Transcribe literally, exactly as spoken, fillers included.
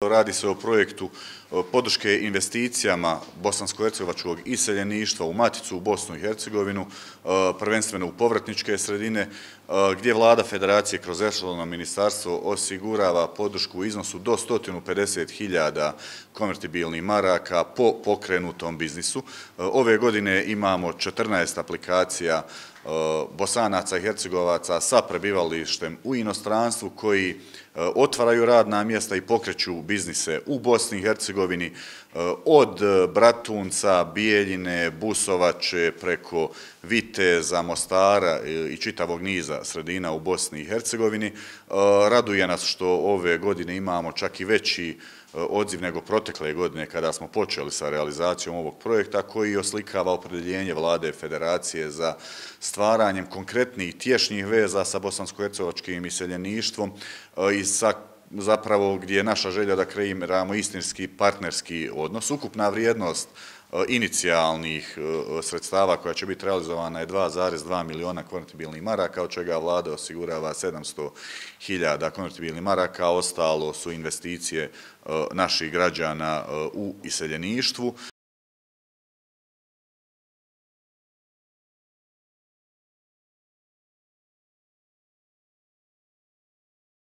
Radi se o projektu podrške investicijama bosansko-hercegovačkog iseljeništva u maticu u Bosnu i Hercegovinu, prvenstveno u povratničke sredine, gdje Vlada Federacije kroz resorno ministarstvo osigurava podršku u iznosu do sto pedeset hiljada konvertibilnih maraka po pokrenutom biznisu. Ove godine imamo četrnaest aplikacija Bosanaca i Hercegovaca sa prebivalištem u inostranstvu koji otvaraju radna mjesta i pokreću biznise u Bosni i Hercegovini od Bratunca, Bijeljine, Busovače preko Viteza, Mostara i čitavog niza sredina u Bosni i Hercegovini. Raduje nas što ove godine imamo čak i veći odziv nego protekle godine kada smo počeli sa realizacijom ovog projekta koji oslikava opredjeljenje Vlade Federacije za stvaranjem konkretnih tješnjih veza sa bosansko-hercegovačkim iseljeništvom i sa zapravo gdje je naša želja da kreiramo istinski partnerski odnos. Ukupna vrijednost inicijalnih sredstava koja će biti realizovana je dva zarez dva miliona konvertibilnih maraka, od čega Vlada osigurava sedamsto hiljada konvertibilnih maraka, a ostalo su investicije naših građana u iseljeništvu.